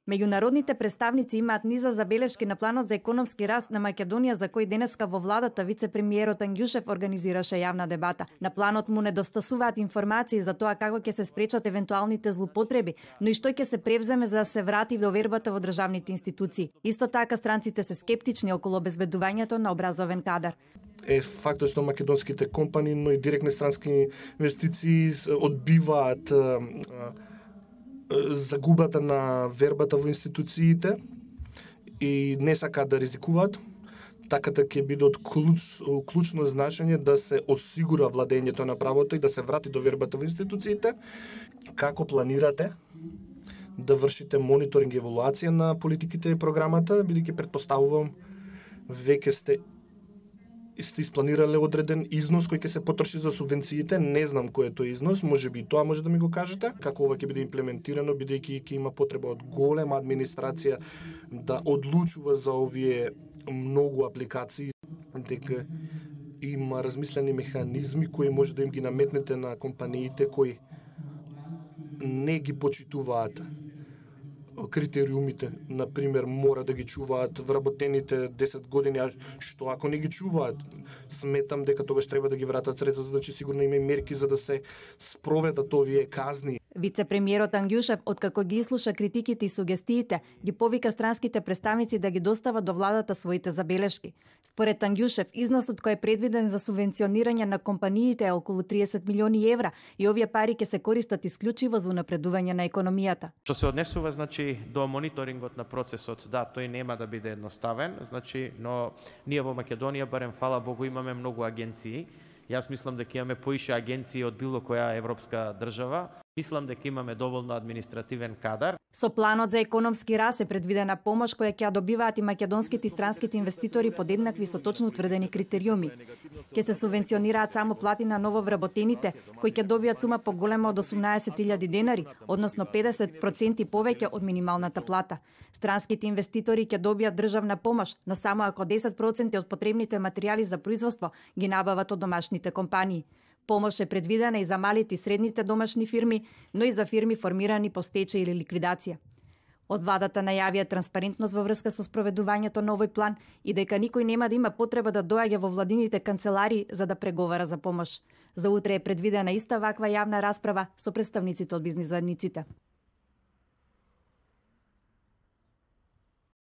Меѓународните представници имаат низа забелешки на планот за економски раст на Македонија, за кој денеска во владата вице-премиерот Ангјушев организираше јавна дебата. На планот му недостасуваат информации за тоа како ќе се спречат евентуалните злоупотреби, но и што ќе се превземе за да се врати довербата во државните институции. Исто така странците се скептични околу обезбедувањето на образовен кадар. Факт што македонските компании, но и директни странски инвестиции одбиваат загубата на вербата во институциите и не сакаат да ризикуваат. Таката ќе биде од клучно значење да се осигура владењето на правото и да се врати довербата во институциите. Како планирате да вршите мониторинг и евалуација на политиките и програмата, бидејќи претпоставувам веќе сте испланирале одреден износ кој ќе се потроши за субвенциите, не знам кој е тој износ, можеби и тоа може да ми го кажете, како ова ќе биде имплементирано, бидејќи ќе има потреба од голема администрација да одлучува за овие многу апликации, дека има размислени механизми кои може да им ги наметнете на компаниите кои не ги почитуваат критериумите, например, мора да ги чуваат вработените 10 години, а што ако не ги чуваат? Сметам дека тогаш треба да ги вратат средства, значи сигурно има и мерки за да се спроведат овие казни. Вице-премиерот Ангјушев, откако ги слуша критиките и сугестиите, ги повика странските представници да ги достават до владата своите забелешки. Според Ангјушев, износот кој е предвиден за субвенционирање на компаниите е околу 30 милиони евра и овие пари ќе се користат исклучиво за унапредување на економијата. Што се однесува до мониторингот на процесот, да, тој нема да биде едноставен, но ние во Македонија, барем фала Богу, имаме многу агенции. Јас мислам дека имаме поише агенции од било која европска држава. Мислам дека имаме доволно административен кадар. Со планот за економски раст е предвидена помош која ќе добиваат и македонските и странските инвеститори под еднакви со точно утврдени критериуми. Ќе се субвенционираат само плати на нововработените, кои ќе добијат сума поголема од 18.000 денари, односно 50% повеќе од минималната плата. Странските инвеститори ќе добијат државна помош, но само ако 10% од потребните материјали за производство ги набават од домашните компании. Помош е предвидена и за малите и средните домашни фирми, но и за фирми формирани по стечај или ликвидација. Од владата најавија транспарентност во врска со спроведувањето на овој план и дека никој нема да има потреба да доаѓа во владините канцеларии за да преговара за помош. За утре е предвидена иста ваква јавна расправа со представниците од бизнис заедниците.